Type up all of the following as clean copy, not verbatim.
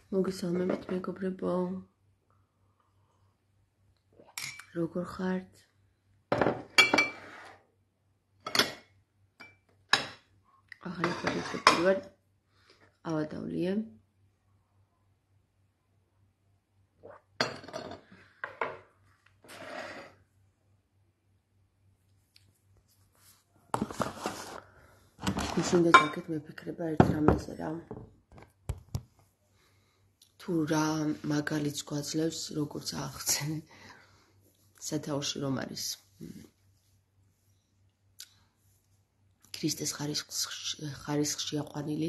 მოგესალმებით მეგობრებო, როგორ ხართ? ახალი პოდკასტი ვარ, ავადავლია. ისინი დაგეთ მეფიქრება ერთ რამეზე რა. თუ რა მაგალითს გვაძლევს, როგორც აღხსენე სათაურში რომ არის ქრისტეს ხარისხში აყვანილი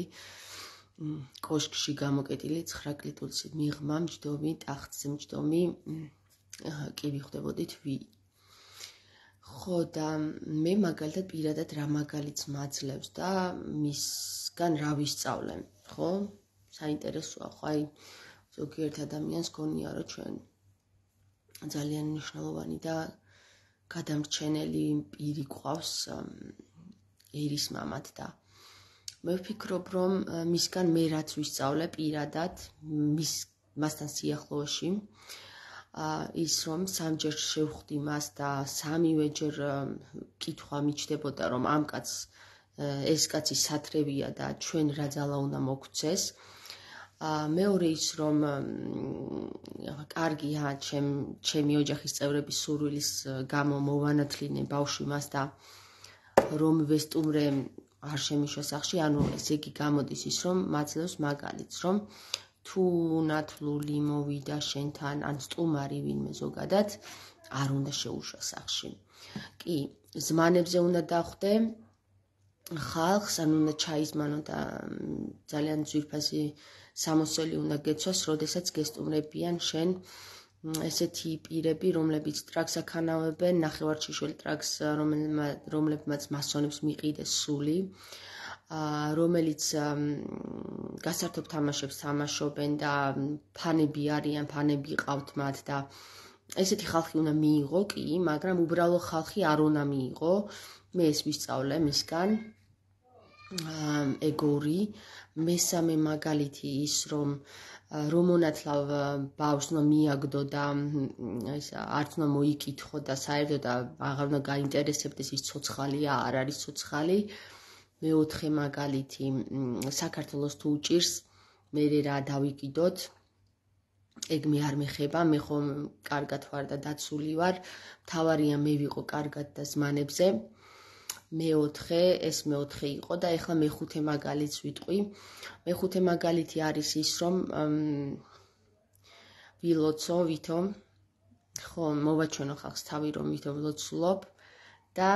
კოშკში გამოკეტილი 9 კლიტურში მიღმა მჯდომი ტახტზე მჯდომი კი ვიხდებოდით ხო და მე მაგალითად პირადად რა მაგალითს მაძლევს და მისგან რა ვისწავლე, ხო? საინტერესოა, ხო აი ზოგიერთ ადამიანს გონია რომ ჩვენ ძალიან მნიშვნელოვანი და გადამრჩენელი პირი გვყავს ერის მამად და მე ვფიქრობ რომ მისგან მე რაც ვისწავლე პირადად მასთან სიახლოვეში ის რომ სამჯერ შევხვდი მას და სამივეჯერ კითხვა მიჩნდებოდა რომ ამ კაცს ეს კაცი სათრევია და ჩვენ რა ძალა უნდა მოგცეს მეორე ის რომ კარგია ჩემი ოჯახის წევრების სურვილის გამო მოვანათლინე ბავშვი მას და რომ ვესტუმრე არ შემიშვა სახში, ანუ ესე იგი გამოდის ის რომ მაძლევს მაგალითს, რომ თუ ნათლული მოვიდა შენთან ან სტუმარი ვინმე ზოგადად არ უნდა შეუშვა სახში. კი, ზმანებზე უნდა დახვდე ხალხს, ან უნდა ჩაიზმანო და ძალიან ძვირფასი სამოსელი უნდა გეცვას, როდესაც გესტუმრებიან შენ ესეთი პირები, რომლებიც ტრაქს აქანავებენ, ნახევარჩიშველ ტრაქს, რომლებმაც მასონებს მიყიდეს სული, რომელიც გასართობ თამაშებს თამაშობენ და ფანები არიან, ფანები ყავთ მათ და ესეთი ხალხი უნდა მიიღო, კი, მაგრამ უბრალო ხალხი არ უნდა მიიღო. მე ეს ვისწავლე მისგან. ეგორი, მესამე მაგალითი ის რომ მონათლავ ბავშვს უნდა მიაგდო და არც უნდა მოიკითხო და საერთოდ აღარ უნდა გაინტერესებდეს ის ცოცხალია, არ არის ცოცხალი. მეოთხე მაგალითი, საქართველოს თუ უჭირს, მე რა დავიკიდოთ, ეგ მე არ მეხება, მე ხომ კარგად ვარ და დაცული ვარ, მთავარია მე ვიყო კარგად და ზმანებზე. ეს მეოთხე იყო და ეხლა მეხუთე მაგალითს ვიტყვი. მეხუთე მაგალითი არის ის, რომ ვილოცო ვითო, ხო, მოვაჩვენო ხალხს თავი რომ ვითო ვილოცულობ და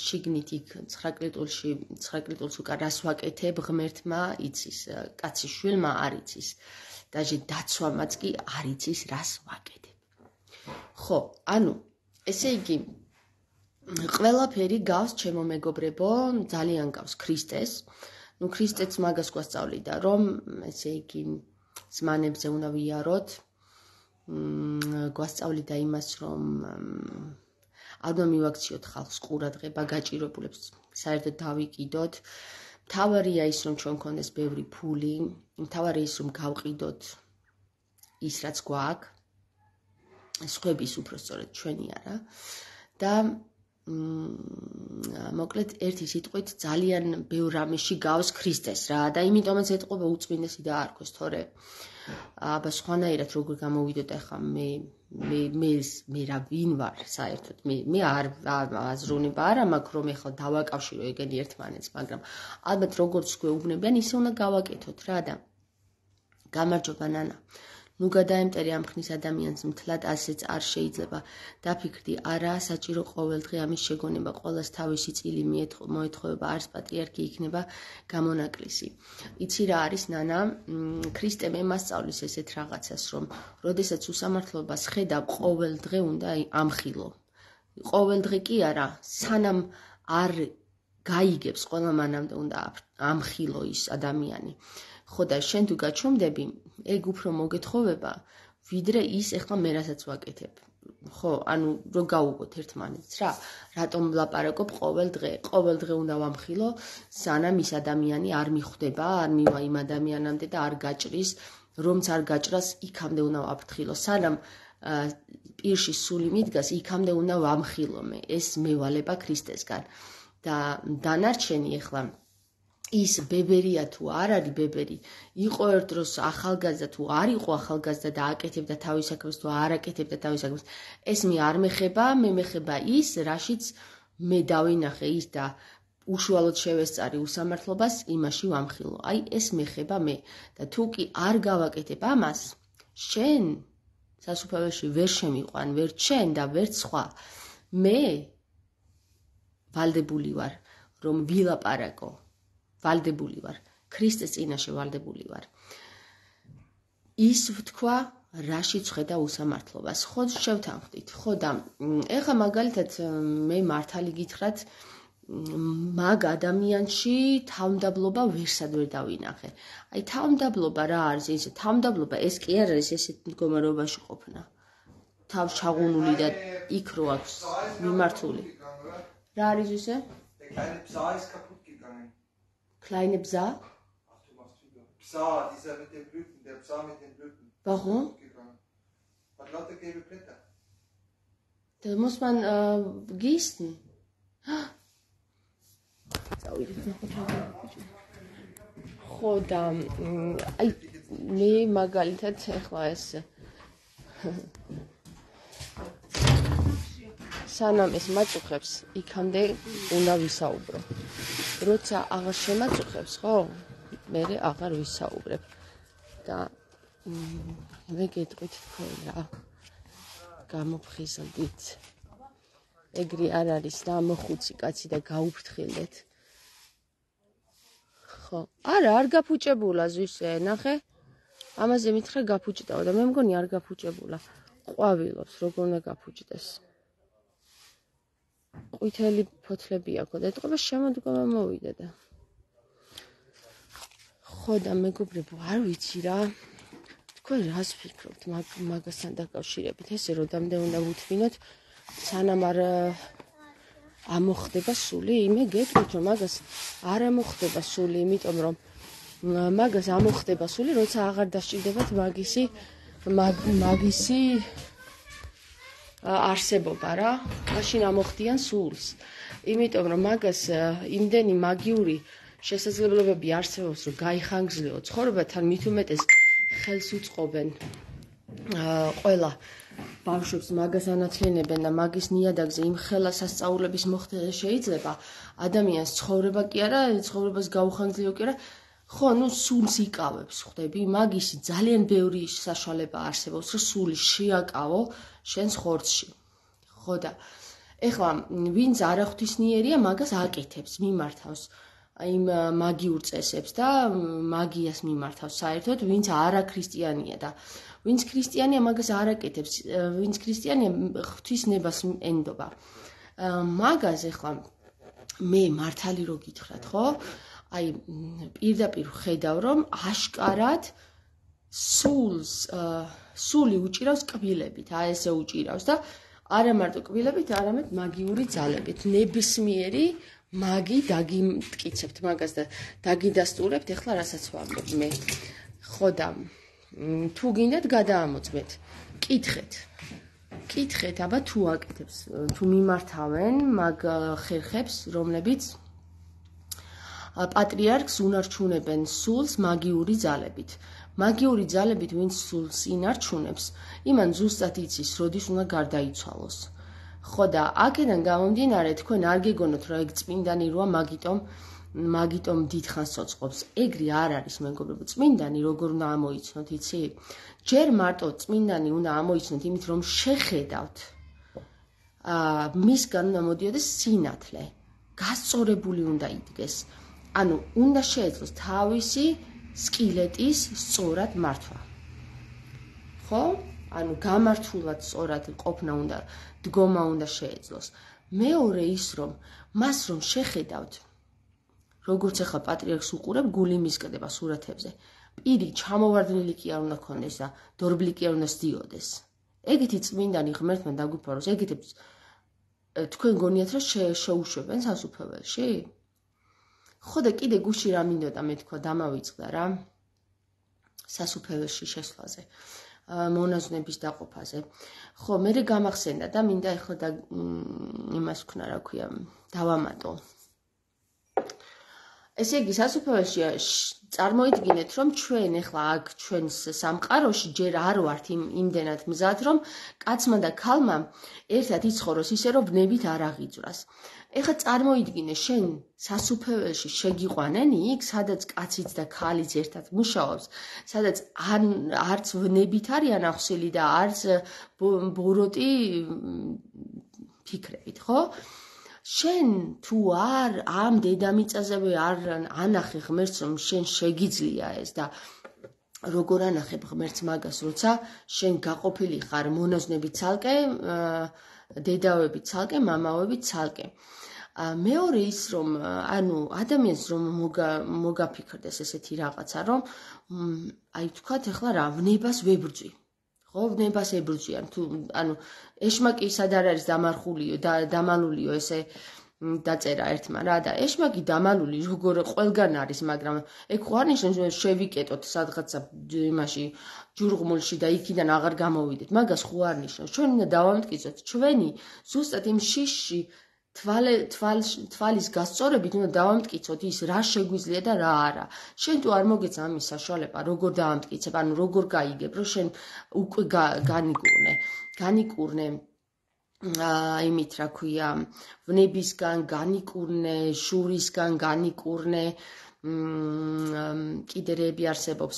შიგნით იქ 9 კლიტურს უკან რას ვაკეთებ, ღმერთმა იცის, კაცის შვილმა არ იცის. დაჟე დაცვამაც კი არ იცის, რას ვაკეთებ. ხო, ანუ, ესე იგი ყველაფერი გავს ჩემო მეგობრებო, ძალიან გავს ქრისტეს. ნუ ქრისტეც მაგას გვასწავლიდა, რომ ესე იგი ზმანებზე უნდა ვიაროთ. გვასწავლიდა იმას, რომ არ უნდა მივაქციოთ ხალხს ყურადღება, გაჭირებულებს საერთოდ დავიკიდოთ. მთავარია ის, რომ ჩვენ გქონდეს ბევრი ფული, მთავარია ის, რომ გავყიდოთ ის, რაც გვაქვს. სხვების უпростоრად ჩვენი არა. და მოკლედ ერთი სიტყვით ძალიან ბევრ რამეში გავს ქრისტეს რა და იმიტომაც ეტყობა უწმინდესი და არქოს, თორე აბა სხვანაირად როგორ გამოვიდოთ ახლა მე რა ვინ ვარ საერთოდ მე არ აზროვნება არა მაქვს რომ ახლა დავაკავშირო ეგენი ერთმანეთს, მაგრამ ალბათ როგორც გვეუბნებიან ისე უნდა გავაკეთოთ რა და გამარჯობა ნანა. ნუ გადაემტერე ამ ხნის ადამიანს მთლად ასეც არ შეიძლება. დაფიქრდი, არაა საჭირო ყოველდღე ამის შეგონება, ყოველას თავისი წილი მოეთხოვება, არც პატრიარქი იქნება გამონაკლისი. იცი რა არის ნანა, ქრისტე მე მასწავლის ესეთ რაღაცას, რომ როდესაც უსამართლობას ხედავ, ყოველდღე უნდა ამხილო. ყოველდღე კი არა, სანამ არ გაიგებს, ყველა მანამდე უნდა ამხილო ის ადამიანი. ხო და შენ თუ გაჩვენდები, ეგ უფრო მოგეთხოვება, ვიდრე ის ეხლა მე რასაც ვაკეთებ. ხო, ანუ რო გავუგოთ ერთმანეთს რა, რატომ ვლაპარაკობ ყოველ დღე უნდა ვამხილო, სანამ ის ადამიანი არ მიხვდება, არ მივა იმ ადამიანამდე და არ გაჭრის, რომც არ გაჭრას, იქამდე უნდა ვაფრთხილო, სანამ პირში სული მიდგას, იქამდე უნდა ვამხილო მე, ეს მევალება ქრისტესგან. და დანარჩენი ახლა ის ბებერია თუ არ არის ბებერი, იყო ერთ დროს ახალგაზრდა თუ არ იყო ახალგაზრდა და აკეთებდა თავის საქმეს თუ არ აკეთებდა თავის საქმეს, ეს მე არ მეხება, მე მეხება ის, რაშიც მე დავინახე ის და უშუალოდ შევესწარი უსამართლობას, იმაში ვამხილო. აი ეს მეხება მე და თუ კი არ გავაკეთებ ამას, შენ სასუფეველში ვერ შემიყვან, ვერ შენ და ვერ სხვა, მე ვალდებული ვარ, რომ ვილაპარაკო. ვალდებული ვარ, ქრისტეს წინაშე ვალდებული ვარ. ის ვთქვა, რაშიც ხედა უსამართლობას. ხო შევთანხმდით, ხო და ეხლა მაგალითად მე მართალი გითხრათ, მაგ ადამიანში თავმდაბლობა ვერსად ვერ დავინახე. აი თავმდაბლობა რა არის ეს? თავმდაბლობა ეს კი არ არის ესეთ მდგომარეობაში ყოფნა. თავ ჩაღუნული და იქ რო აქვს მიმართული. რა არის ესე? Kleine Psa? Psa, dieser mit den Blüten, der Psa mit den Blüten. Warum? Hat lauter gelbe Blätter. Das muss man gießen. ხო და აი მე მაგალითად ახლა ეს სანამ ეს მაწუხებს, იქამდე უნდა ვისაუბრო. როცა აღარ შემაწუხებს, ხო? მე აღარ ვისაუბრებ. და მე გეტყვით თქვენ რა. გამოფხიზლდით. ეგრე არ არის და მოხუცი კაცი და გაუფრთხილდეთ. ხო, არა, არ გაფუჭებულა ზვისე, ნახე. ამაზე მითხრა გაფუჭდაო და მე მგონი არ გაფუჭებულა. ყვავილობს, როგორ უნდა გაფუჭდეს. ყვითელი ფოთლები აქვს და ეთყობა შემოდგომა მოვიდა და ხო და მეგობრებო არ ვიცი რა თქვენ რას ფიქრობთ მაგასთან დაკავშირებით ესე როდამდე უნდა ვუთმინოთ სანამ არ ამოხდება სული მე გეტყვით რომ მაგას არ ამოხდება სული იმიტომ რომ მაგას ამოხდება სული როცა აღარ დასჭირდებათ მაგისი არსებობა რა, მაშინ ამოხდიან სულს. იმიტომ რომ მაგას იმდენი მაგიური შესაძლებლობები არსებობს, რომ გაიხანგრძლეო ცხოვრება, თან მით უმეტეს ხელს უწყობენ ყველა ბავშვებს მაგას ანაცვლინებენ და მაგის ნიადაგზე იმ ხელა სასწაულების მოხდენა შეიძლება ადამიანს ცხოვრება კი არა, ცხოვრებას გაუხანგრძლეო კი არა, ხო, ნუ სულს იკავებს, ხვდები, მაგისი ძალიან ბევრი საშუალება არსებობს, რომ სული შეაკავო შენს ხორცში. ხო და ეხლა ვინც არაღვთისნიერია, მაგას აკეთებს, მიმართავს იმ მაგიურ წესებს და მაგიას მიმართავს საერთოდ, ვინც არაქრისტიანია და ვინც ქრისტიანია, მაგას არ აკეთებს, ვინც ქრისტიანია, ღვთისნებას ენდობა. მაგას ეხლა მე მართალი რო გითხრათ, ხო? აი პირდაპირ ხედავ რომ აშკარად სული უჭირავს კბილებით, აი ესე უჭირავს და არა მარტო კბილებით, არამედ მაგიური ძალებით. ნებისმიერი მაგი დაგიმტკიცებთ მაგას და დაგიდასტურებთ, ეხლა რასაც ვამბობ მე. ხო და თუ გინდათ გადაამოწმეთ. კითხეთ, აბა თუ აკეთებს, თუ მიმართავენ მაგ ხერხებს, რომლებიც პატრიარქს უნარჩუნებენ სულს მაგიური ძალებით. მაგიური ძალებით ვინც სულს ინარჩუნებს, იმან ზუსტად იცის, როდის უნდა გარდაიცვალოს. ხო და აქედან გამომდინარე, თქვენ არ გეგონოთ, რომ ეგ წმინდანი როა, მაგიტომ დიდხანს ცოცხლობს. ეგრე არ არის, მეგობრებო, წმინდანი როგორ უნდა ამოიცნოთ, იცი? ჯერ მარტო წმინდანი უნდა ამოიცნოთ, იმით რომ შეხედავთ. მისგან უნდა მოდიოდეს სინათლე. გასწორებული უნდა იდგეს. ანუ უნდა შეეძლოს თავისი სკილეტის სწორად მართვა. ხო? ანუ გამართულად სწორად ყოფნა უნდა, დგომა უნდა შეეძლოს. მეორე ის რომ მას რომ შეხედავთ, როგორც ახლა პატრიარქს უყურებ, გული მისკდება სურათებზე. პირი ჩამოვარდნილი კი არ უნდა ქონდეს და დორბლი კი არ უნდა სდიოდეს. ეგეთი წმინდანი ღმერთმა დაგვიფაროს, ეგეთებს თქვენ გონიათ რომ შეუშვებენ სასუფეველში? ხო და კიდე გუში რა მინდოდა მე თქვა დამავიწყდა რა სასუფეველში შესვლაზე. მონაზვნების დაყოფაზე. ხო, მე გამახსენდა და მინდა ეხლა და იმას ვქნა, რა ქვია, დავამატო. ესე იგი, სასუფეველში წარმოიდგინეთ, რომ ჩვენ ეხლა აქ ჩვენს სამყაროში ჯერ არ ვართ იმდენად მზად, რომ კაცმა და ქალმა ერთად იცხოვროს ისე, რომ ვნებით არ აღიძვრას. ეხლა წარმოიდგინე, შენ სასუფეველში შეგიყვანენ იქ, სადაც კაციც და ქალიც ერთად მუშაობს, სადაც არც ვნებით არიან ახსილი და არც ბოროტი ფიქრებით, ხო? შენ თუ არ ამ დედამიწაზე არ ანახე ღმერთს, რომ შენ შეგიძლია ეს და როგორ ანახებ ღმერთს მაგას, როცა შენ გაყოფილი ხარ მონაზვნებით ცალკე, დედავებით ცალკე, მამავებით ცალკე. მეორე ის რომ ანუ ადამიანს რომ მოგაფიქრდეს ესეთი რაღაცა რომ აი თქვათ ეხლა რა ვნებას ვებრძვი ხო ვნებას ებრძვიან თუ ანუ ეშმაკი სად არის დამარხულიო და დამალულიო ესე დაწერა ერთმა რა და ეშმაკი დამალული როგორ ყველგან არის მაგრამ ეგ ხო არ ნიშნავს შევიკეტოთ სადღაცა იმაში ჯურღმულში და იქიდან აღარ გამოვიდეთ მაგას ხო არ ნიშნავს ჩვენ უნდა დავამტკიცოთ ჩვენი ზუსტად იმ შიშში თვალის გასწორებით უნდა დავამტკიცოთ ის რა შეგვიძლია და რა არა. შენ თუ არ მოგეცა ამის საშუალება, როგორ დავამტკიცებ, ანუ როგორ გაიგებ, რომ შენ უკვე განიკურნე იმით რა ქვია, ვნებისგან განიკურნე, შურისგან განიკურნე, კიდერები არსებობს,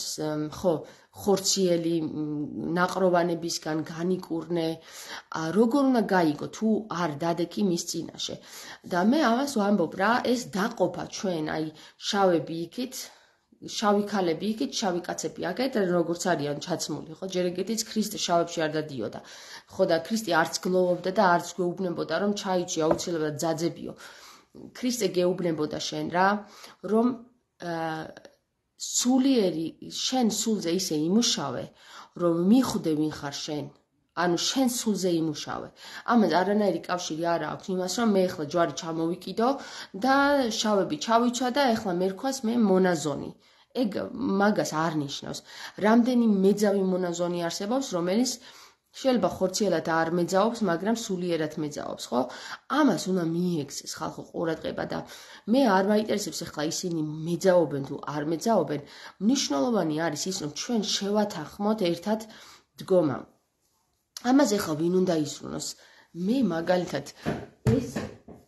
ხო, ხორციელი ნაყროვანებისგან განიკურნე, როგორ უნდა გაიგო თუ არ დადექი მის წინაშე. და მე ამას ვამბობ რა, ეს დაყოფა ჩვენ, აი შავები იქით, შავი ქალები იქით, შავი კაცები აქეთ, როგორც არიან ჩაცმული, ხო, ჯერ ეგეთიც ქრისტე შავებში არ დადიოდა. ხო და ქრისტე არც გლოვობდა და არც გვეუბნებოდა რომ ჩაიჭი აუცილებლად ძაძებიო. ქრისტე გეუბნებოდა შენ რა, რომ სულიერი შენ სულზე ისე იმუშავე, რომ მიხვდე ვინ ხარ შენ. ანუ შენ სულზე იმუშავე. ამას არანაირი კავშირი არ აქვს იმას, რომ მე ეხლა ჯვარი ჩამოვიკიდო და შავები ჩავიცვა და ეხლა მე რქვას მე მონაზონი. ეგ მაგას არ ნიშნავს. რამდენი მეძავი მონაზონი არსებობს, რომელიც შეიძლება ხორციელად არ მეძაობს, მაგრამ სულიერად მეძაობს, ხო? ამას უნდა მიექცეს ხალხო ყურადღება და მე არ მაინტერესებს ახლა ისინი მეძაობენ თუ არ მეძაობენ. მნიშვნელოვანი არის ის, რომ ჩვენ შევათანხმოთ ერთად დგომა. ამაზე ახლა ვინ უნდა ისრულოს? მე მაგალითად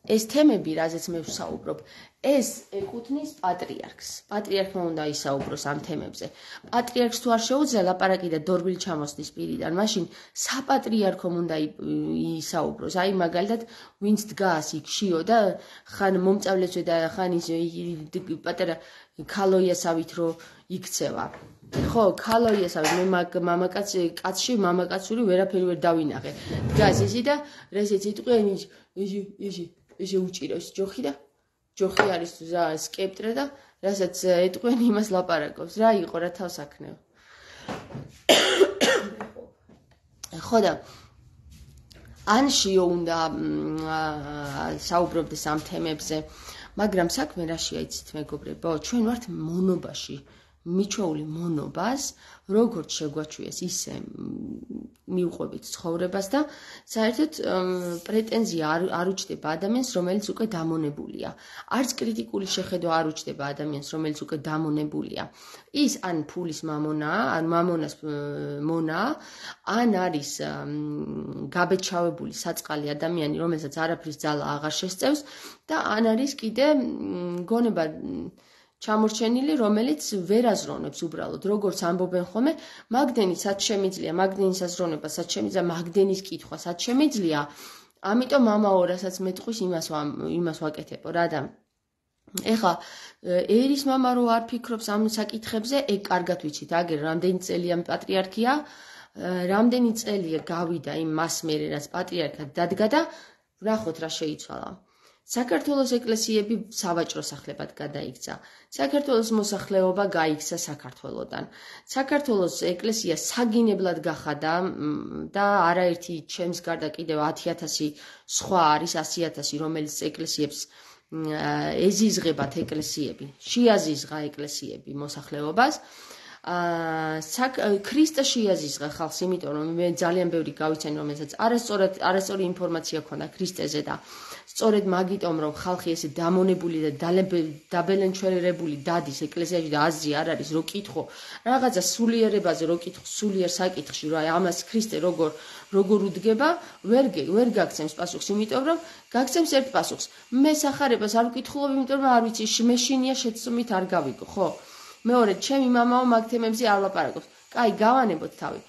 ეს თემები, რაზეც მე ვსაუბრობ, ეს ეკუთვნის პატრიარქს. პატრიარქმა უნდა ისაუბროს ამ თემებზე. პატრიარქს თუ არ შეუძლია ლაპარაკი და დორბილი ჩამოსდის პირიდან, მაშინ საპატრიარქომ უნდა ისაუბროს. აი მაგალითად, ვინც დგას იქ შიო და ხან მომწავლეცვე და ხან ის პატარა ქალოიასავით რო იქცევა. ხო, ქალოიასავით მე კაცში მამაკაცური ვერაფერი ვერ დავინახე. დგას ისი და რასეც იტყვიან ეს უჭიროს ჯოხი და ჯოხი არის რა სკეპტრე და რასაც ეტყვენ იმას ლაპარაკობს რა იყო რა თავს აქნევ. ხო და ან შიო უნდა საუბრობდეს ამ თემებზე, მაგრამ საქმე რაშია იცით მეგობრებო, ჩვენ ვართ მონობაში. მიჩვეული მონობას, როგორც შეგვაჩვიეს, ისე მიუყვებით ცხოვრებას და საერთოდ პრეტენზია არ უჩდება ადამიანს, რომელიც უკვე დამონებულია. არც კრიტიკული შეხედვა არ უჩდება ადამიანს, რომელიც უკვე დამონებულია. ის ან ფულის მამონაა, ან მამონას მონაა, ან არის გაბეჭავებული საწყალი ადამიანი, რომელსაც არაფრის ძალა აღარ შესწევს და ან არის კიდე გონება ჩამორჩენილი, რომელიც ვერ აზროვნებს უბრალოდ, როგორც ამბობენ ხოლმე, მაგდენის სად შემიძლია, მაგდენის აზროვნება სად შემიძლია, მაგდენის კითხვა სად შემიძლია, ამიტომ ამაო, რასაც მეტყვის, იმას ვაკეთებო რა და ეხლა ერის მამა რო არ ფიქრობს ამ საკითხებზე, ეგ კარგად ვიცით, აგერ რამდენი წელია პატრიარქია, რამდენი წელია გავიდა იმ მას მერე, რაც პატრიარქად დადგა და ვნახოთ რა შეიცვალა. საქართველოს ეკლესიები სავაჭრო სახლებად გადაიქცა. საქართველოს მოსახლეობა გაიქცა საქართველოდან. საქართველოს ეკლესია საგინებლად გახადა და არაერთი ჩემს გარდა კიდევ 10,000 სხვა არის 100,000, რომელიც ეკლესიებს ეზიზღებათ ეკლესიები, შეაზიზღა ეკლესიები მოსახლეობას. ქრისტე შეაზიზღა ხალხს, იმიტომ რომ მე ძალიან ბევრი გავიცანი, რომელსაც არასწორი ინფორმაცია ქონდა ქრისტეზე და სწორედ მაგიტომ რომ ხალხი ესე დამონებული და დაბელენჩერებული დადის ეკლესიაში და აზრი არ არის რო კითხო რაღაცა სულიერებაზე რო კითხო სულიერ საკითხში რა ამას ქრისტე როგორ უდგება ვერ გაგცემს პასუხს, იმიტომ რომ გაგცემს ერთ პასუხს მე სახარებას არ ვკითხულობ, იმიტომ რომ არ ვიცი მე შინია შეცდომით არ გავიგო, ხო? მეორე ჩემი მამაო მაგ თემებზე არ ლაპარაკობს. კაი, გავანებოთ თავი.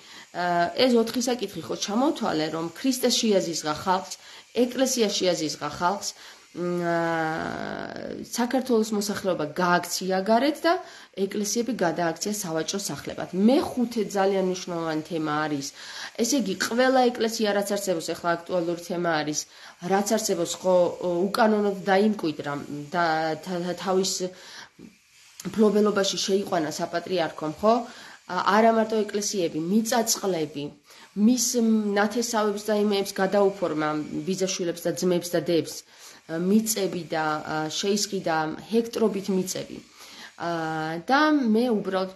ეს 4 საკითხი ხო ჩამოვთვალე, რომ ქრისტე შეაზიზღა ხალხს, ეკლესია შეაზიზღა ხალხს, საქართველოს მოსახლეობა გააქცია გარეთ და ეკლესიები გადააქცია სავაჭრო სახლებად. მეხუთე ძალიან მნიშვნელოვანი თემა არის. ესე იგი, ყველა ეკლესია რაც არსებობს, ახლა აქტუალური თემა არის, რაც არსებობს, ხო უკანონოდ დაიმკვიდრა და თავის ფლობელობაში შეიყვანა საპატრიარქომ, ხო? არა მარტო ეკლესიები, მიწაწყლები, მის ნათესავებს და იმეებს გადაუფორმა ბიძაშვილებს და ძმებს და დებს, მიწები და შეისყიდა ჰექტრობით მიწები. და მე უბრალოდ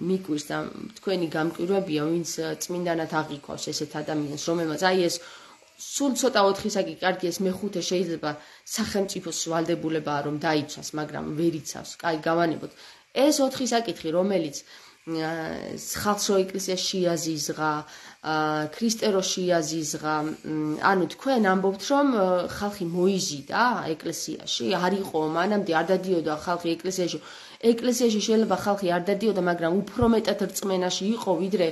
მიკვირს და თქვენი გამკვირვებია, ვინც წმინდანად აღიქვავს ესეთ ადამიანს, რომელმაც აი ეს სულ ცოტა 4 საკითხი, კარგი ეს მეხუთე შეიძლება სახელმწიფოს ვალდებულებაა რომ დაიცვას, მაგრამ ვერ იცავს. კაი, გავანებოთ. ეს 4 საკითხი, რომელიც ხალხს რო ეკლესია შეაზიზღა, ქრისტე რო შეაზიზღა, ანუ თქვენ ამბობთ რომ ხალხი მოიზიდა ეკლესიაში, არ იყო მანამდე არ დადიოდა ხალხი ეკლესიაში. ეკლესიაში შეიძლება ხალხი არ დადიოდა, მაგრამ უფრო მეტად რწმენაში იყო, ვიდრე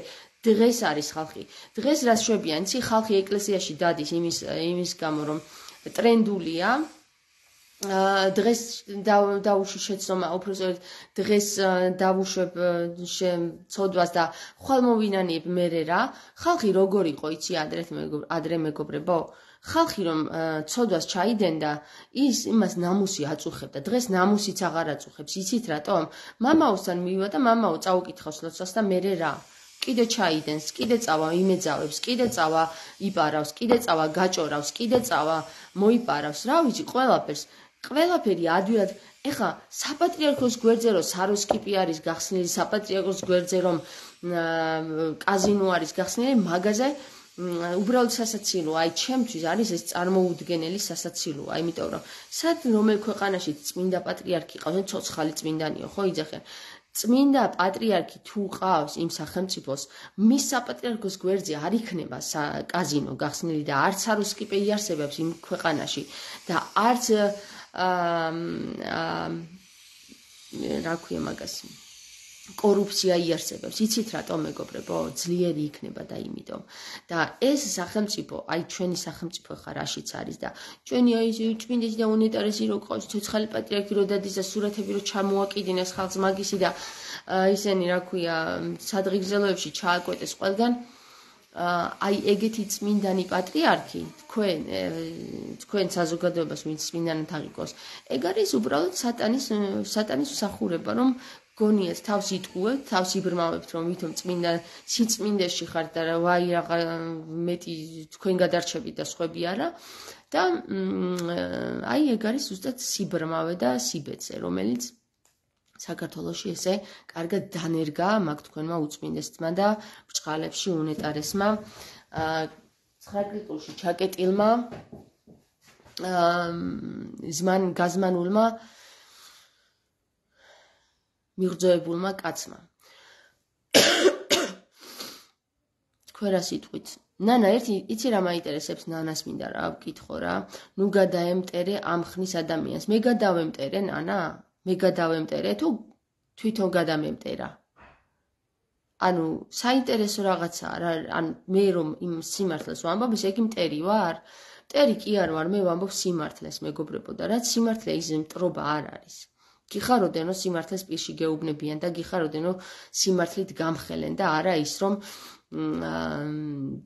დღეს არის ხალხი. დღეს რას შვებიან, იცი, ხალხი ეკლესიაში დადის იმის გამო, რომ ტრენდულია. დღეს დავუშვი შეცდომა, უბრალოდ დღეს დავუშვებ ცოდვას და ხვალ მოვინანიებ მერე რა. ხალხი როგორ იყო, იცი, ადრე მეგობრებო? ხალხი რომ ცოდვას ჩაიდენდა, იმას ნამუსი აწუხებდა. დღეს ნამუსიც აღარ აწუხებს. იცით რატომ? მამაოსთან მივიდა და მამაო წაუკითხავს ლოცვას და მერე რა? კიდე ჩაიდენს, კიდე წავა იმეძავებს, კიდე წავა იპარავს, კიდე წავა გაჭორავს, კიდე წავა მოიპარავს, რა ვიცი, ყველაფერი ადვილად. ეხა საპატრიარქოს გვერდზე რომ საროსკიპი არის გახსნილი, საპატრიარქოს გვერდზე რომ კაზინო არის გახსნილი, მაღაზია უბრალოდ სასაცილოა. აი ჩემთვის არის ეს წარმოუდგენელი სასაცილოა, იმიტომ რომ სად რომელ ქვეყანაში წმინდა პატრიარქი ყავს, ცოცხალი წმინდანიო, ხო იძახიან. წმინდა პატრიარქი თუ ყავს იმ სახელმწიფოს, მის საპატრიარქოს გვერდზე არ იქნება კაზინო გახსნილი და არც საროსკიპე იარსებებს იმ ქვეყანაში და არც რა ქვია მაგას კორუფცია იარსებებს. იცით რატომ მეგობრებო? ძლიერი იქნება და იმიტომ. და ეს სახელმწიფო, აი ჩვენი სახელმწიფო ხარ რაშიც არის და ჩვენი აი წმინდეთი და უნეტარესი რო ყავს, ცოცხალი პატრიარქი რო დადის და სურათები რო ჩამოაკიდინეს ხალხს მაგისი და ისენი რა ქვია სადღეგრძელოებში ჩააკვეტეს ყველგან. აი ეგეთი წმინდანი პატრიარქი თქვენ საზოგადოებას ვინც წმინდანად აღიქვას, ეგ არის უბრალოდ სატანის მსახურება, რომ გონიათ თავს იტყუებთ, თავს იბრმავებთ, რომ ვითომ სიწმინდეში ხართ და ვაი რაღა მეტი თქვენ გადარჩებით და სხვები არა და აი ეგ არის ზუსტად სიბრმავე და სიბეწე, რომელიც საქართველოში ესე კარგად დანერგა მაგ თქვენმა უწმინდესმა და ბრჭყალებში უნეტარესმა ცხრაკრიტულში ჩაკეტილმა გაზმანულმა მიღწევებულმა კაცმა. თქვენ რა სიტყვით? ნანა, იცი რა მაინტერესებს ნანას მინდა რა ვკითხო რა. ნუ გადაემტერე ამ ხნის ადამიანს. მე გადავემტერე, ნანა? მე გადავემტერე თუ თვითონ გადამემტერა? ანუ საინტერესო რაღაცაა რა, ანუ მე რომ იმ სიმართლეს ვამბობ, ეს იგი მტერი ვარ? მტერი კი არ ვარ, მე ვამბობ სიმართლეს, მეგობრებო, და რაც სიმართლე ის მტრობა არ არის. გიხაროდენ რომ სიმართლეს პირში გეუბნებიან და გიხაროდენ რომ სიმართლით გამხელენ და არა ის რომ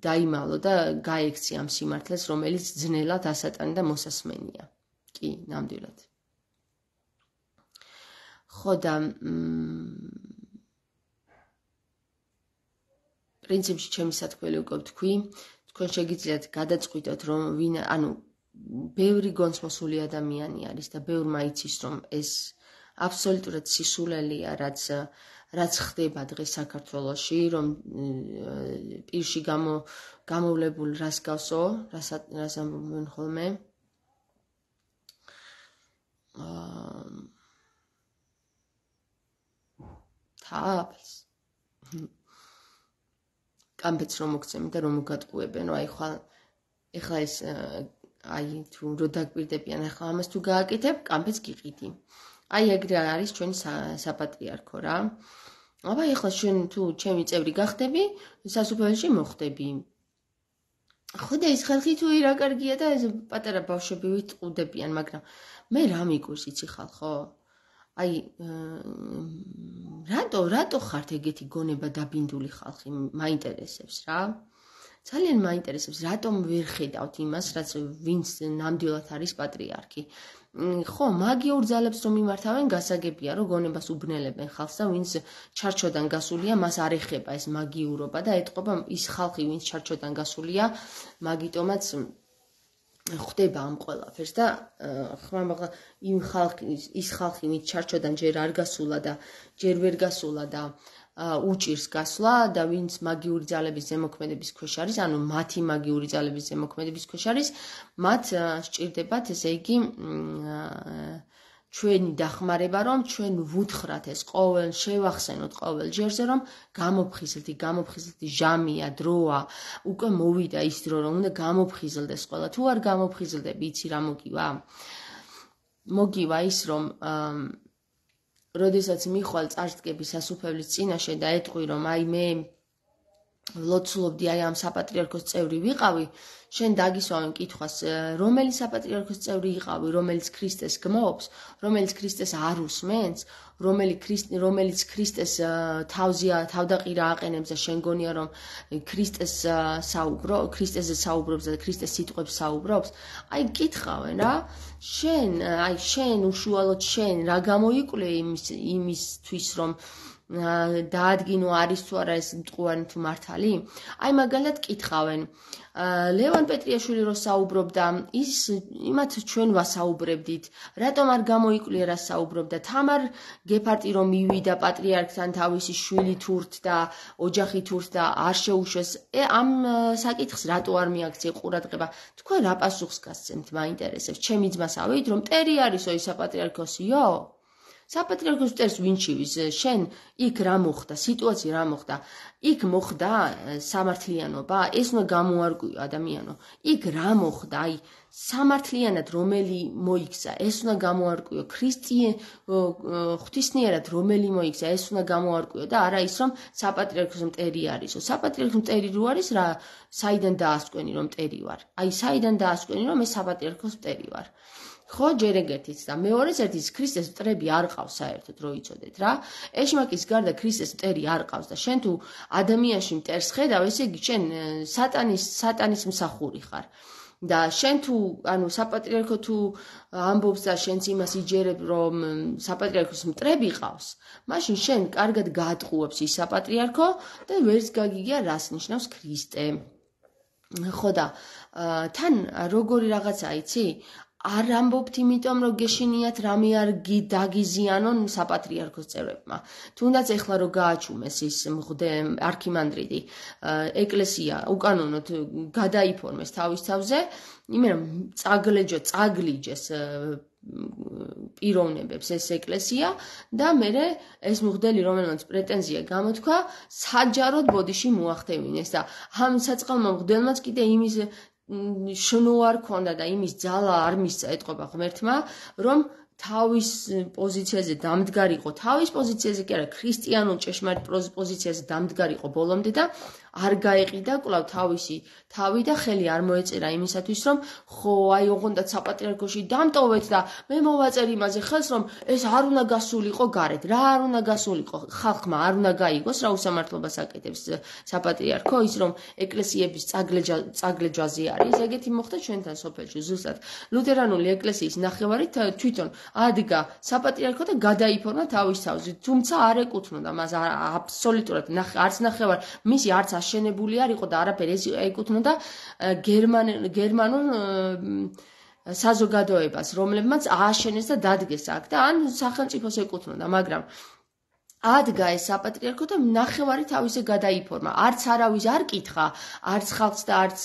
დაიმალო და გაექცი ამ სიმართლეს, რომელიც ძნელად ასატანი და მოსასმენია. კი ნამდვილად. ხო და პრინციპში ჩემი სათქმელი უკვე ვთქვი, თქვენ შეგიძლიათ გადაწყვიტოთ რომ ბევრი გონცმოსული ადამიანი არის და ბევრმა იცის რომ ეს აბსოლუტურად სისულელეა რაც ხდება დღეს საქართველოში, რომ პირში გამოვლებულ რას გავსო, რას ამბობენ ხოლმე. თაფლს. კამფეთს რომ მოგცემენ და რომ მოგატყუებენ, რომ ეხლა ეს თუ რო დაგპირდებიან, ეხლა ამას თუ გააკეთებ, კამფეთს გიყიდი. ეგრე არის ჩვენი საპატრიარქო რა. აბა ეხლა შენ თუ ჩემი წევრი გახდები, სასუფეველში მოხდები. ხო და ეს ხალხი თუ რა კარგია და ეს პატარა ბავშვები ვიტყუდებიან, მაგრამ მე რა მიგვირს იცი ხალხო? რატო ხართ ეგეთი გონება დაბინდული ხალხი? მაინტერესებს რა. ძალიან მაინტერესებს, რატომ ვერ ხედავთ იმას, რაც ვინც ნამდვილად არის პატრიარქი. ხო, მაგიურ ძალებს რომ იმართავენ, გასაგებია, რომ გონებას უბნელებენ ხალხს და ვინც ჩარჩოდან გასულია, მას არ ეხება ეს მაგიურობა და ეტყობა ის ხალხი, ვინც ჩარჩოდან გასულია, მაგიტომაც ხდება ამ ყველაფერს და ხმამაღლა ის ხალხი, ვინც ჩარჩოდან ჯერ არ გასულა და ჯერ ვერ გასულა და უჭირს გასვლა და ვინც მაგიური ძალების ზემოქმედების ქვეშ არის, ანუ მათი მაგიური ძალების ზემოქმედების ქვეშ არის, მათ სჭირდებათ, ესე იგი, ჩვენი დახმარება, რომ ჩვენ ვუთხრათ ეს შევახსენოთ ყოველ ჯერზე, რომ გამოფხიზლდი ჟამია, დროა, უკვე მოვიდა ის დრო, რომ უნდა გამოფხიზლდეს ყველა. თუ არ გამოფხიზლდები, იცი რა მოგივა? მოგივა ის, რომ როდესაც მიხვალ წარსდგები სასუფეველის წინაშე და ეტყვი, რომ მე ვლოცულობდი ამ საპატრიარქოს წევრი ვიყავი, შენ დაგისვავენ კითხვას, რომელი საპატრიარქოს წევრი იყავი, რომელიც ქრისტეს გმობს, რომელიც ქრისტეს არ უსმენს, რომელიც ქრისტეს თავდაყირა აყენებს და შენ გონია, რომ ქრისტეზე საუბრობს და ქრისტეს სიტყვებს საუბრობს, კითხავენ რა. შენ უშუალოდ შენ რა გამოიკვლიე იმისთვის, რომ დაადგინო არის თუ არა ეს მტყუარი თუ მართალი? მაგალითად კითხავენ, ლევან პეტრიაშვილი რო საუბრობდა, იმათ ჩვენ ვასაუბრებდით, რატომ არ გამოიკვლიე რა საუბრობდა? თამარ გეფარტი რომ მივიდა პატრიარქთან თავისი შვილი თურთ და ოჯახი თურთ და არ შეუშვეს, ამ საკითხს რატო არ მიაქცია ყურადღება? თქვენ რა პასუხს გასცემთ, მაინტერესებს. ჩემი ძმას ავიდით, რომ მტერი არისო ის საპატრიარქოსიო? საპატრიარქოს მტერს ვინ ჩივის? შენ იქ რა მოხდა? სიტუაცია რა მოხდა? იქ მოხდა სამართლიანობა? ეს უნდა გამოარკვიო ადამიანო. იქ რა მოხდა? სამართლიანად რომელი მოიქცა, ეს უნდა გამოარკვიო. ღვთისმიერად რომელი მოიქცა, ეს უნდა გამოარკვიო და არა ის, რომ საპატრიარქოს მტერი არისო. საპატრიარქოს მტერი რო არის, რა საიდან დაასკვენი რომ მტერი ვარ? საიდან დაასკვენი რომ ეს საპატრიარქოს მტერი ვარ? ხო, ჯერ ეგერთიც და მეორეს ერთის ქრისტეს მტრები არ ყავს საერთოდ, რო იცოდეთ რა. ეშმაკის გარდა ქრისტეს მტერი არ ყავს და შენ თუ ადამიანში მტერს ხედავ, ესე იგი შენ სატანის მსახური ხარ. და შენ თუ, საპატრიარქო თუ ამბობს და შენც იმას იჯერებ, რომ საპატრიარქოს მტრები ყავს, მაშინ შენ კარგად გაატყუებს ის საპატრიარქო და ვერც გაგიგია რას ნიშნავს ქრისტე. ხო და თან როგორი რაღაცა იცი? არ ამბობთ იმიტომ, რომ გეშინიათ რამე არ დაგიზიანონ საპატრიარქოს წევრებმა. თუნდაც ეხლა რომ გააჩუმეს ის არქიმანდრიტი, ეკლესია უკანონოდ გადაიფორმეს თავის თავზე, იმენა წაგლიჯეს პიროვნებებს ეს ეკლესია და მერე ეს მღვდელი, რომელმაც პრეტენზია გამოთქვა, საჯაროდ ბოდიში მოახდევინეს და ამ საწყალმა მღვდელმაც კიდე იმის შნო არ ქონდა და იმის ძალა არ მისცა, ეტყობა ღმერთმა, რომ თავის პოზიციაზე დამდგარი იყო, თავის პოზიციაზე კი არა, ქრისტიანულ ჭეშმარიტ პოზიციაზე დამდგარი იყო ბოლომდე და არ გაეყიდა კვლავ თავისი თავი და ხელი არ მოეწერა იმისათვის, რომ ხო, აი ოღონდ საპატრიარქოში დამტოვეთ და მე მოვაწერ იმაზე ხელს, რომ ეს არ უნდა გასულიყო გარეთ. რა არ უნდა გასულიყო? ხალხმა არ უნდა გაიგოს, რა უსამართლობას აკეთებს საპატრიარქო, ის რომ ეკლესიების წაგლეჯვაზე არის. ეგეთი მოხდა ჩვენთან სოფელში ზუსტად. ლუთერანული ეკლესიის ნახევარი თვითონ ადგა საპატრიარქო და გადაიფორმა თავის თავზე. თუმცა არ ეკუთვნოდა მას აბსოლუტურად არც ნახევარ, მისი არც აშენებული არ იყო და არაფერი ეს ეკუთვნოდა გერმანულ საზოგადოებას, რომლებმაც ააშენეს და დადგეს აქ და ან სახელმწიფოს ეკუთვნოდა, მაგრამ ადგა ეს საპატრიარქო და ნახევარი თავისე გადაიფორმა. არც არავის არ კითხა, არც ხალხს და არც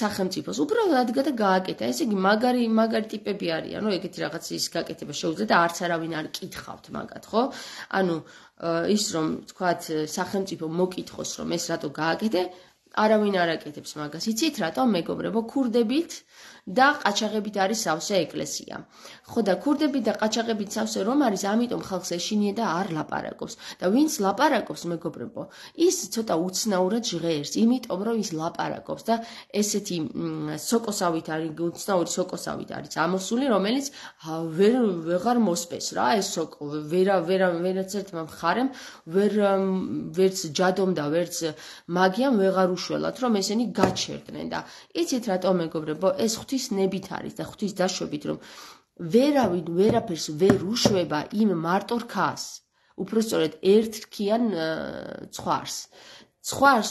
სახელმწიფოს. უბრალოდ ადგა და გააკეთა. ესე იგი მაგარი ტიპები არიან, რომ ეგეთი რაღაცის გაკეთება შეუძლია და არც არავინ არ კითხავთ მაგათ, ხო? ანუ ის რომ თქვათ სახელმწიფო მოკითხოს, რომ ეს რატო გააკეთე, არავინ არ აკეთებს მაგას. იცით რატო, მეგობრებო, ქურდებით და ყაჩაღებით არის სავსე ეკლესია. ხო და ქურდებით და ყაჩაღებით სავსე რომ არის, ამიტომ ხალხს ეშინია და არ ლაპარაკობს. და ვინც ლაპარაკობს, მეგობრებო, ის ცოტა უცნაურად ჟღერს, იმიტომ რომ ის ლაპარაკობს და ესეთი სოკოსავით არის, უცნაური სოკოსავით არის ამოსული, რომელიც ვეღარ მოსპეს რა, ეს სოკო ვერაც ერთმა მხარემ ვერც ჯადომ და ვერც მაგიამ ვეღარ უშველათ, რომ ესენი გაჩერდნენ და იცით რატო, მეგობრებო, ეს ღვთისნებით არის და ღვთის დაშვებით, რომ ვერავინ ვერაფერს ვერ უშვება იმ მარტო რქას, უпростоრედ ერთრქიან ცხვარს,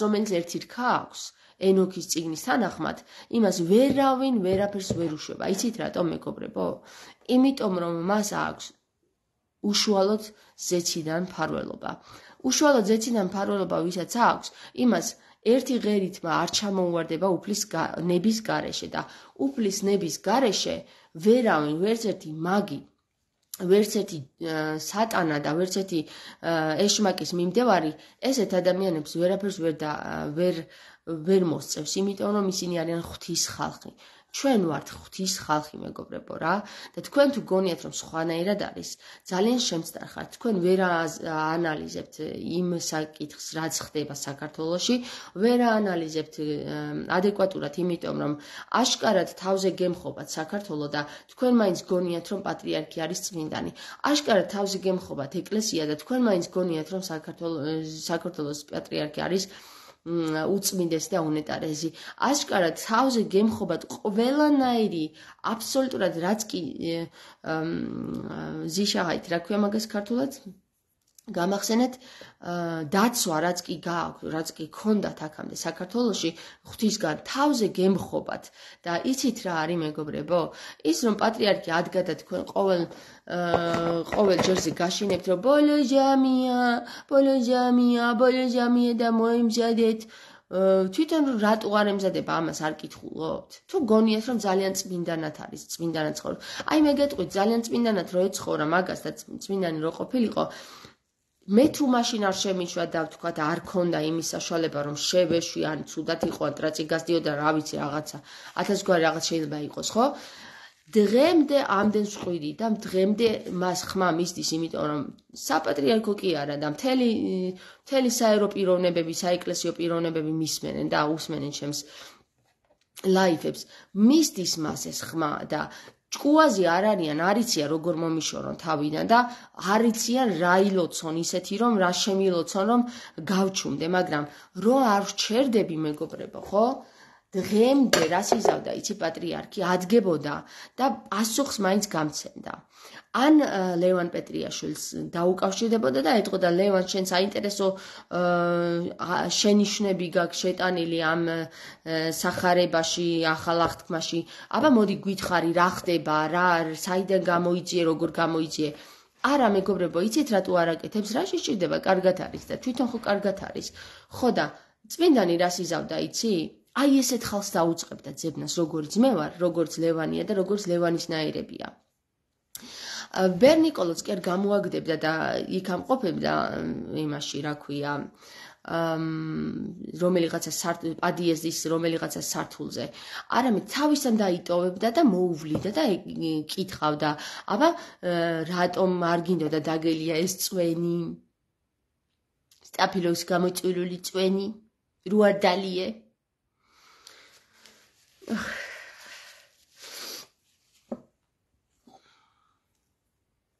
რომელიც ერთი რქა აქვს, ენოქის წიგნის თანახმად, იმას ვერავინ ვერაფერს ვერ უშვება. იცით რატო, მეგობრებო? იმიტომ რომ მას აქვს უშუალოდ ზეციდან მფარველობა. უშუალოდ ზეციდან მფარველობა ვისაც აქვს, იმას ერთი ღერითმა არ ჩამოუვარდება უფლის ნების გარეშე და უფლის ნების გარეშე ვერავინ, ვერც ერთი მაგი, ვერც ერთი სატანა და ვერც ერთი ეშმაკის მიმდევარი ესეთ ადამიანებს ვერაფერს ვერ მოსწევს, იმიტომ რომ ისინი არიან ღვთის ხალხი. ჩვენ ვართ ღვთის ხალხი, მეგობრებო რა და თქვენ თუ გონიათ რომ სხვანაირად არის, ძალიან შემწდარ. თქვენ ვერ აანალიზებთ იმ საკითხს, რაც ხდება საქართველოში, ვერ აანალიზებთ ადეკვატურად, იმიტომ რომ აშკარად თავზე გემხობათ საქართველო და თქვენ მაინც გონიათ რომ პატრიარქი არის წმინდანი. აშკარად თავზე გემხობათ ეკლესია და თქვენ მაინც გონიათ რომ საქართველოს პატრიარქი არის უწმინდესი და უნეტარესი. აშკარად თავზე გემხობათ ყველანაირი აბსოლუტურად რაც კი ზიშაჰაით, რა ქვია მაგას ქართულად? გამახსენეთ დაცვა რაც კი ქონდათ აქამდე საქართველოში ღვთისგან თავზე გემხობათ და იცით რა არის, მეგობრებო? ის რომ პატრიარქი ადგა და თქვენ ყოველ ჯერზე გაშინებთ რომ ბოლო ჟამია და მოემზადეთ, თვითონ რატო არ ემზადება ამას არ კითხულობთ? თუ გონიათ რომ ძალიან წმინდანად არის, წმინდანად ცხოვრობ. აი მე გეტყვით, ძალიან წმინდანად რო ეცხოვრა მაგას და წმინდანი რო ყოფილიყო, მე თუ მაშინ არ შემიშვა და ვთქვათ არ ქონდა იმის საშუალება რომ შევეშვი ან ცუდად იყო ან ტრაწი გასდიოდა რა ვიცი რაღაცა 1000 გვარი რაღაც შეიძლება იყოს, ხო? დღემდე ამდენ ხვირი და დღემდე მას ხმა მისდის, იმიტომ რომ საპატრიარქო კი არა და მთელი საერო პიროვნებები, საეკლესიო პიროვნებები მისმენენ და უსმენენ ჩემს ლაიფებს. მისდის მას ეს ხმა და ჭკუაზე არ არიან, არიციან როგორ მომიშორონ თავიდან და არიციან რა ილოცონ ისეთი რომ რა შემილოცონ რომ გავჩუმდე, მაგრამ რო არ ვჩერდები, მეგობრებო, ხო? დღემდე რას იზავდა იცი პატრიარქი, ადგებოდა და პასუხს მაინც გამცემდა. ან ლევან პეტრიაშვილს დაუკავშირდებოდა და ეტყოდა, ლევან, შენ საინტერესო შენიშვნები გაქვს შეტანილი ამ სახარებაში, ახალ აღთქმაში, აბა მოდი გვითხრი რა ხდება, რა საიდან გამოიძიე, როგორ გამოიძიე. არა, მეგობრებო, იცით რატო არ აკეთებს, რა შეჭირდება, კარგად არის და თვითონ ხო კარგად არის. ხო და წმინდანი რას იზავდა, იცი? აი ესეთ ხალხს დაუწყებდა ძებნას, როგორც მე ვარ, როგორც ლევანია და როგორც ლევანისნაირებია. ბერნიკოლოც კი არ გამოაგდებდა და იქ ამყოფებდა იმაში, რა ქვია, რომელიღაცა პადიეზის რომელიღაცა სართულზე, არამედ თავისთან დაიტოვებდა და მოუვლიდა და კითხავდა, აბა რატომ არ გინდოდა დაგელია ეს წვენი? სტაფილოს გამოწვეული წვენი, რო არ დალიე?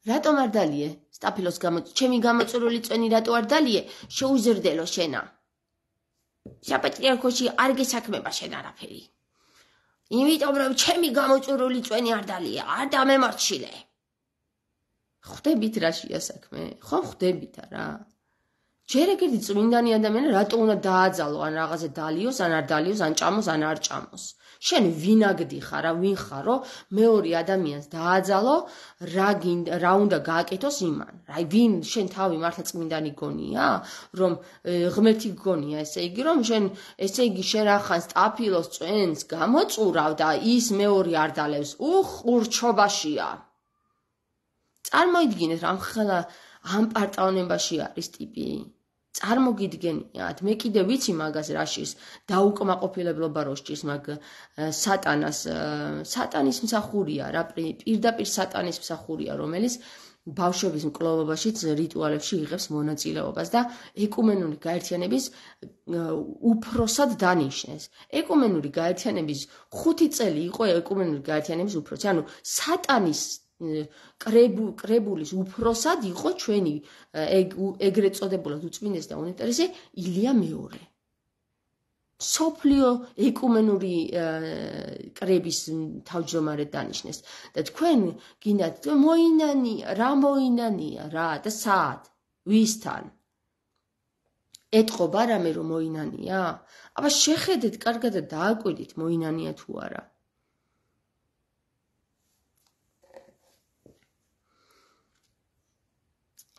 რატომ არ დალიე? სტაფილოს ჩემი გამოწვეული წვენი რატო არ დალიე? შეუზრდელო შენა. საპატრიარქოში არ გესაქმება შენ არაფერი. იმიტომ რომ ჩემი გამოწვეული წვენი არ დალიე, არ დამემორჩილე. ხვდებით რაშია საქმე? ხო ხვდებით არა? ჯერ ეგეთი წმინდანი ადამიანი რატო უნდა დააძალო, ან რაღაცა დალიოს, ან არ დალიოს, ან ჭამოს, ან არ ჭამოს. შენ ვინაგდი ხარ, ვინ ხარო, მეორე ადამიანს დააძალო, რა უნდა გააკეთოს იმან. ვინ შენ თავი მართლა წმინდანი გონია, რომ ღმერთი გონია, ესე იგი რომ შენ ახან სტაფილოს წვენს გამოწურავ და ის მეორე არ დალევს. ყურჩობაშია. წარმოიდგინეთ რამ ხელა ამ პარტავნებაში არის ტიპი. წარმოგიდგენიათ, მე კიდე ვიცი მაგას რაშის დაუკმაყოფილებლობა რო სჭირს მაგ სატანის მსახურია რა, პირდაპირ სატანის მსახურია, რომელიც ბავშვების მკვლელობაშიც რიტუალებში იღებს მონაწილეობას და ეკუმენური გაერთიანების უფროსად დანიშნეს. ეკუმენური გაერთიანების 5 წელი იყო ეკუმენური გაერთიანების უფროსი, ანუ სატანის კრებულის უფროსად იყო ჩვენი ეგრეთ წოდებულად უწმინდეს და უნეტარესი ილია მეორე. სოფლიო ეკუმენური კრების თავმჯდომარედ დანიშნეს და თქვენ გინდათ რა მოინანია რა და სად ვისთან ეთყობა რამე რომ მოინანია? აბა შეხედეთ კარგად და დააკვირდით მოინანია თუ არა.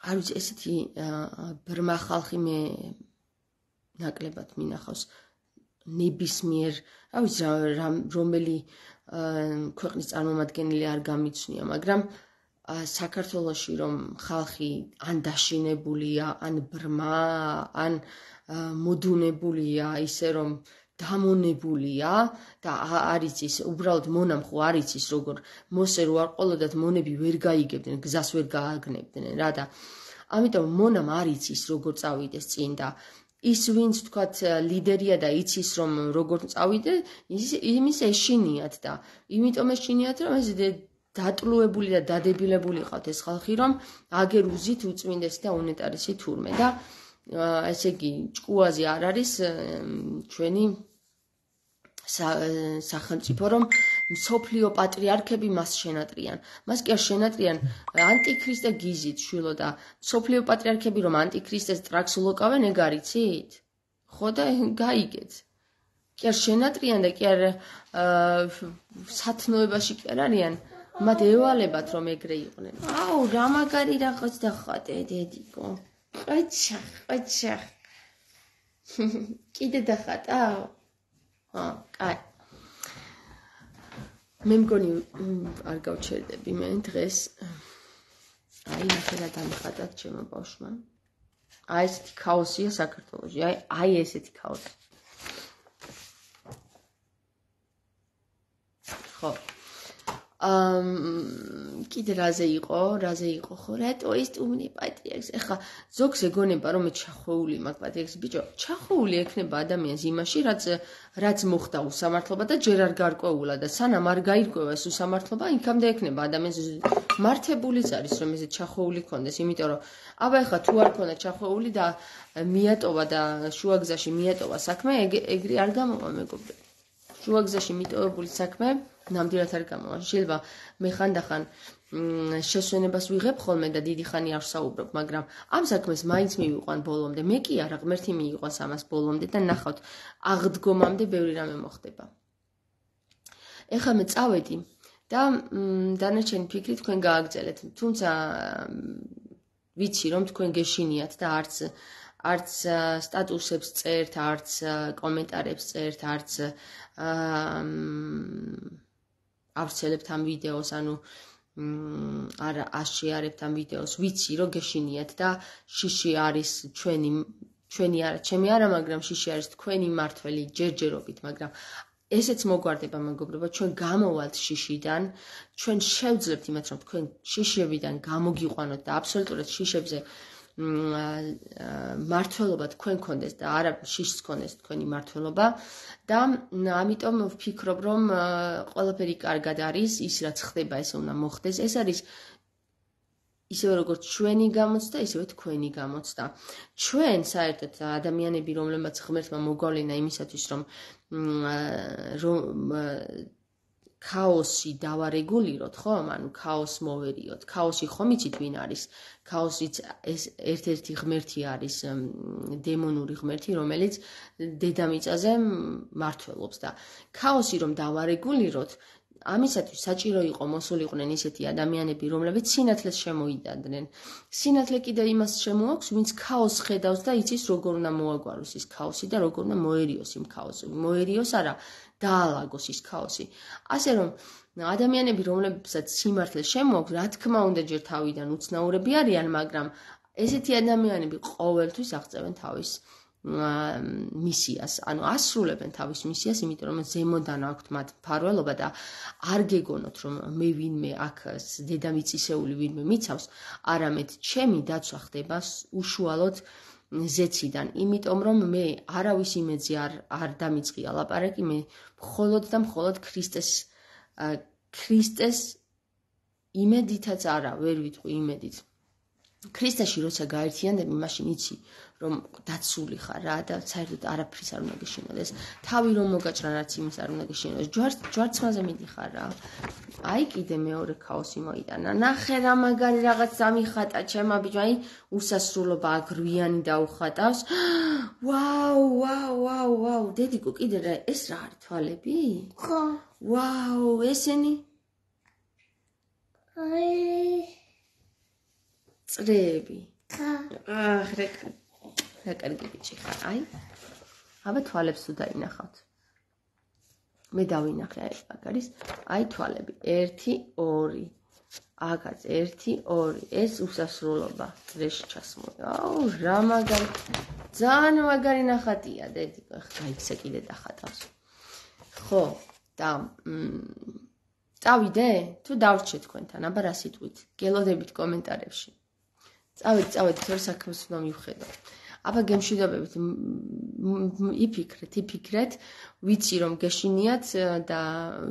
არ ვიცი, ესეთი ბრმა ხალხი მე ნაკლებად მინახავს ნებისმიერ, რა ვიცი, რომელი ქვეყნის წარმომადგენელი არ გამიცნია, მაგრამ საქართველოში რომ ხალხი ან დაშინებულია, ან ბრმა, ან მოდუნებულია, ისე რომ დამონებულია და არ იცის, უბრალოდ მონამ ხო არ იცის როგორ მოსე რო არ ყოლოდათ მონები ვერ გაიგებდნენ, გზას ვერ გააგნებდნენ რა და ამიტომ მონამ არ იცის როგორ წავიდეს წინ და ის ვინც თქვათ ლიდერია და იცის რომ როგორ წავიდე, იმის ეშინიათ და იმიტომ ეშინიათ რომ ეს დატლუებული და დადებილებული ყავთ ეს ხალხი რომ აგერ უზით უწმინდესი და უნეტარესი თურმე და ესე იგი ჭკუაზე არ არის ჩვენი სახელმწიფო რომ მსოფლიო პატრიარქები მას შენატრიან. მას კი არ შენატრიან ანტიქრისტე გიზით შვილო და მსოფლიო პატრიარქები რომ ანტიქრისტეს ტრაქს ულოკავენ, ეგ არიცით? ხო და გაიგეთ. კი არ შენატრიან და კი არ სათნოებაში კი არ არიან. მათ ევალებათ რომ ეგრე იყვნენ. აუ, რა მაგარი რაღაც დახატე, დედიკო. ყეჩა. კიდე დახატავ? კაი. მე მგონი არ გავჩერდები მე დღეს. აი, ნახე დამხატათ ჩემო ბავშვმა. აი ესეთი ქაოსია საქართველოში. აი ესეთი ქაოსი. ხო. კიდე რაზე იყო ხო? რატო ის ტუმნი პატრიარქს? ეხლა ზოგს ეგონება რომ მე ჩახვეული მაგ პატრიარქს, ბიჭო, ჩახვეული ექნება ადამიანს იმაში, რაც მოხდა უსამართლობა და ჯერ არ გარკვეულა და სანამ არ გაირკვევა ეს უსამართლობა, იქამდე ექნება ადამიანს მართებულიც არის რომ ესე ჩახვეული ქონდეს, იმიტომ რომ აბა ეხლა თუ არ ქონდა ჩახვეული და მიატოვა და შუაგზაში მიატოვა საქმე, ეგრე არ გამოვა მეგობრებო. შუაგზაში მიტოვებული საქმე ნამდვილად არ გამოვა. შეიძლება მე ხანდახან შესვენებას ვიღებ ხოლმე და დიდი ხანი არ ვსაუბრობ, მაგრამ ამ საქმეს მაინც მივიყვან ბოლომდე. მე კი არა, ღმერთი მიიყვანს ამას ბოლომდე და ნახავთ, აღდგომამდე ბევრი რამე მოხდება. ეხლა მე წავედი და დანარჩენი ფიქრი თქვენ გააგრძელეთ. თუმცა ვიცი რომ თქვენ გეშინიათ და არც სტატუსებს წერთ, არც კომენტარებს წერთ, არც ავრცელებთ ამ ვიდეოს, ანუ არ აშეარებთ ამ ვიდეოს. ვიცი რომ გეშინიათ და შიში არის ჩვენი ჩვენი არა, ჩემი არა, მაგრამ შიში არის თქვენი მართველი ჯერჯერობით, მაგრამ ესეც მოგვარდება მეგობრებო, ჩვენ გამოვალთ შიშიდან, ჩვენ შევძლებთ იმათ, რომ თქვენ შიშებიდან გამოგიყვანოთ და აბსოლუტურად შიშებზე მართლობა თქვენ გქონდეს და არა შიშს გქონდეს თქვენი მართლობა და ამიტომ ვფიქრობ, რომ ყველაფერი კარგად არის, ის რაც ხდება, ესე უნდა მოხდეს. ეს არის ისევე როგორც ჩვენი გამოცდა, ისევე თქვენი გამოცდა. ჩვენ საერთოდ ადამიანები, რომლებმაც ღმერთმა მოგვავლინა იმისათვის, რომ ქაოსი დავარეგულიროთ, ხო? ანუ ქაოსს მოვერიოთ. ქაოსი ხომ იცით ვინ არის? ქაოსიც ეს ერთ-ერთი ღმერთი არის, დემონური ღმერთი, რომელიც დედამიწაზე მართლობს და ქაოსი რომ დავარეგულიროთ, ამისათვის საჭირო იყო მოსულიყვნენ ისეთი ადამიანები, რომლებიც სინათლეს შემოიდადნენ. სინათლე კიდე იმას შემოაქვს, ვინც ქაოსს ხედავს და იცის როგორ უნდა მოაგვაროს ის ქაოსი და როგორ უნდა მოერიოს იმ ქაოსი. მოერიოს არა, დაალაგოს ის ქაოსი. ასე რომ ადამიანები, რომლებსაც სიმართლე შემოაქვს, რა თქმა უნდა ჯერ თავიდან უცნაურები არიან, მაგრამ ესეთი ადამიანები ყოველთვის აღწევენ თავის მისიას, ანუ ასრულებენ თავის მისიას, იმიტომ რომ ზემოდან აქვთ მათ მფარველობა და არ გეგონოთ, რომ მე ვინმე აქ დედამიწისეული ვინმე მიცავს, არამედ ჩემი დაცვა ხდება უშუალოდ ზეციდან, იმიტომ რომ მე არავის იმედზე არ დამიწყია ლაპარაკი, მე მხოლოდ და მხოლოდ ქრისტეს იმედითაც არა, ვერ ვიტყვი იმედით. ქრისტეში როცა გაერთიანდები, მაშინ იცი, რომ დაცული ხარ რა და საერთოდ არაფრის არ უნდა გეშინოდეს. თავი რომ მოგაჭრა, რაც იმის არ უნდა გეშინოდეს. ჯვარცმაზე მიდიხარ რა. აი კიდე მეორე ქაოსი მოიტანა. ნახე რა მაგარი რაღაც დამიხატა ჩემა ბიჭო, აი უსასრულობა აგრვიანი დაუხატავს. ვაუ, დედიკო კიდე რა, ეს რა არის თვალები? ხო. ვაუ, ესენი? აი წრეები. ხა. რა კარგი ბიჭი ხარ, აი. აბა თვალებს თუ დაინახავთ. მე დავინახე აი აქ არის, აი თვალები. 1 2. აქაც 1 2. ეს უსასრულობა წრეში ჩასმული. აუ, რა მაგარი. ძალიან მაგარი ნახატია, დედიკო. გაიქცე კიდე დახატავს. ხო, და წავიდე? თუ დავრჩე თქვენთან, აბა რა სიტყვით? გელოდებით კომენტარებში. წავედი, თორე საქმეს უნდა მივხედო. აბა გემშვიდობებით, იფიქრეთ, ვიცი რომ გეშინიათ და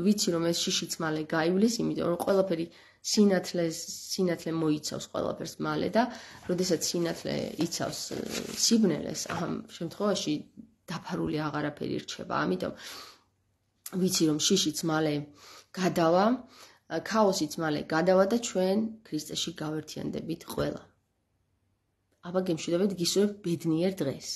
ვიცი რომ ეს შიშიც მალე გაივლის, იმიტომ რომ ყველაფერი სინათლე მოიცავს ყველაფერს მალე და როდესაც სინათლე იცავს სიბნელეს, ამ შემთხვევაში დაფარული აღარაფერი რჩება. ამიტომ ვიცი რომ შიშიც მალე გადავა, ქაოსიც მალე გადავა და ჩვენ ქრისტეში გავერთიანდებით ყველა. აბა გემშვიდობებით, გისურვებ ბედნიერ დღეს.